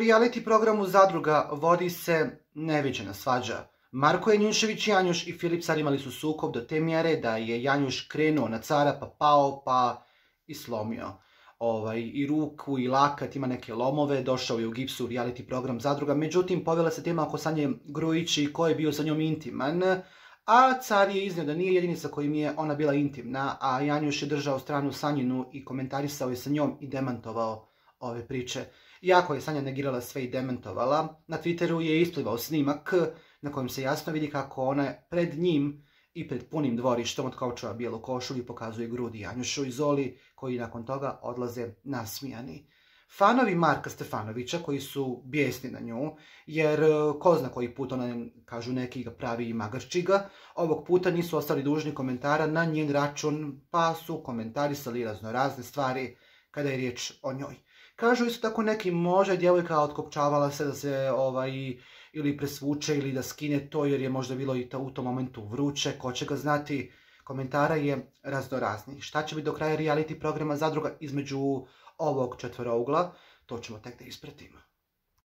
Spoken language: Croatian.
reality programu Zadruga vodi se neviđena svađa. Marko Janjušević Janjuš i Filip Car imali su sukob do te mjere da je Janjuš krenuo na Cara pa pao pa i slomio i ruku i lakat, ima neke lomove, došao je u gipsu reality program Zadruga, međutim povela se tema oko Sanje Grujić i ko je bio sa njom intiman, a Car je iznio da nije jedini sa kojim je ona bila intimna, a Janjuš je držao stranu Sanjinu i komentarisao je sa njom i demantovao ove priče. Iako je Sanja negirala sve i demantovala, na Twitteru je isplivao snimak na kojem se jasno vidi kako ona pred njim i pred punim dvorištom od kaučova bijelu košulju pokazuje grudi Janjušu i Zoli, koji nakon toga odlaze nasmijani. Fanovi Marka Stefanovića, koji su bijesni na nju, jer ko zna koji put ona, kažu neki, ga pravi i magarči ga, ovog puta nisu ostali dužni komentara na njen račun, pa su komentarisali razne stvari kada je riječ o njoj. Kažu isto tako neki, može djevojka otkopčavala se da se ili presvuče ili da skine to jer je možda bilo i u tom momentu vruće, ko će ga znati. Komentara je raznorazni. Šta će biti do kraja reality programa Zadruga između ovog četvorougla, to ćemo tek da ispratimo.